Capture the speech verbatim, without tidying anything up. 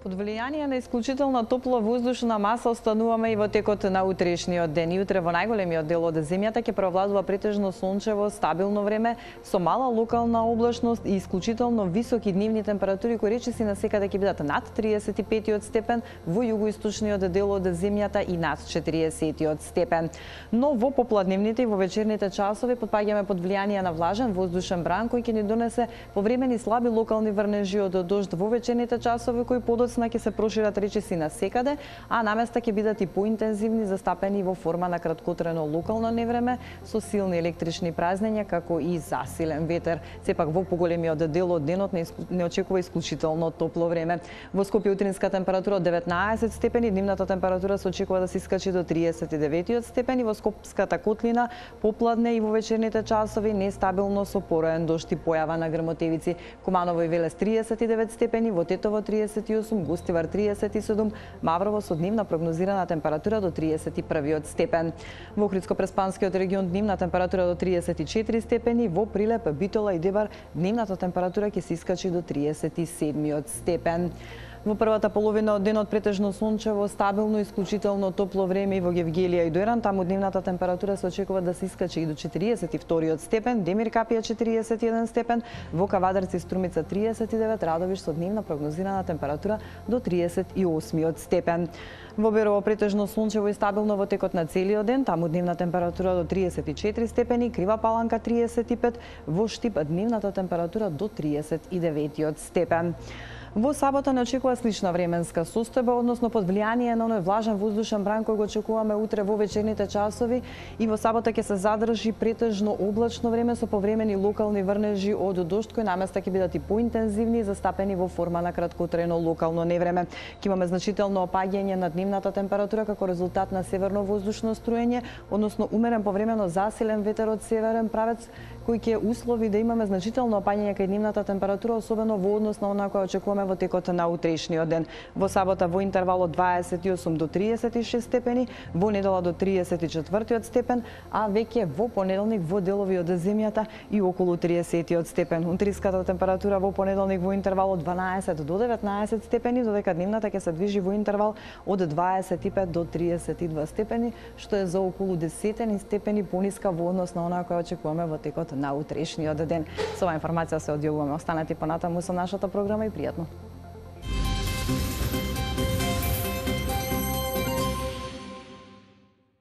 Под влијание на исклучителна топла воздушна маса остануваме и во текот на утрешниот ден. И утре во најголемиот дел од земјата ќе преовладува претежно сончево, стабилно време со мала локална облачност и исклучително високи дневни температури кои речиси насекаде ќе бидат над триесет и пет степен, во југоисточниот дел од земјата и над четириесет степен. Но во попладневните и во вечерните часови потпаѓаме под влијание на влажен воздушен бран кој ќе ни донесе повремени слаби локални врнежи од дожд во вечерните часови кои подоцна ќе се прошират речиси насекаде, а наместа ќе бидат и поинтензивни, застапени во форма на краткотрено локално невреме со силни електрични празнења како и засилен ветер. Сепак во поголемиот дел од денот не очекува исклучително топло време. Во Скопје утринска температура од деветнаесет степени, дневната температура се очекува да се искачи до триесет и девет степени. Во Скопската котлина попладне и во вечерните часови нестабилно со пороен дожд и појава на грмотевици. Куманово и Велес триесет и девет степени, во Тетово триесет и осум, Гостивар триесет и седум, Маврово со дневна прогнозирана температура до триесет и први степен. Во Охридско-Преспанскиот регион дневна температура до триесет и четири степени, во Прилеп, Битола и Дебар дневната температура ќе се искачи до триесет и седми степен. Во првата половина од денот претежно сончево, стабилно, исклучително топло време и во Гевгелија и Дојран, таму дневната температура се очекува да се искачи и до четириесет и втори степен, Демир Капија четириесет и еден степен, во Кавадарци и Струмица триесет и девет, Радовиш со дневна прогнозирана температура до триесет и осми степен. Во Берово претежно сончево и стабилно во текот на целиот ден, таму дневна температура до триесет и четири степени, Крива Паланка триесет и пет, во Штип дневната температура до триесет и девет степен. Во сабота не очекува слична временска состојба, односно под влијание на оној влажен воздушен бран кој го очекуваме утре во вечерните часови, и во сабота ќе се задржи претежно облачно време со повремени локални врнежи од дожд кои наместа ќе бидат и поинтензивни, застапени во форма на краткотрено локално невреме. Ќе имаме значително опаѓање на дневната температура како резултат на северно воздушно струење, односно умерен повремено засилен ветер од северен правец кој ќе услови да имаме значително опаѓање кај дневната температура, особено во однос на она која очекуваме во текот на утрешниот ден. Во сабота во интервал од дваесет и осум до триесет и шест степени, во недела до триесет и четврти степен, а веќе во понеделник во делови од земјата и околу триесет степен. Унутриската температура во понеделник во интервал од дванаесет до деветнаесет степени, додека дневната ќе се движи во интервал од дваесет и пет до триесет и два степени, што е за околу десет степени пониска во однос на она која очекуваме во текот на утрешниот ден. Со оваа информација се одјавуваме. Останете понатаму со нашата програма и пријатно.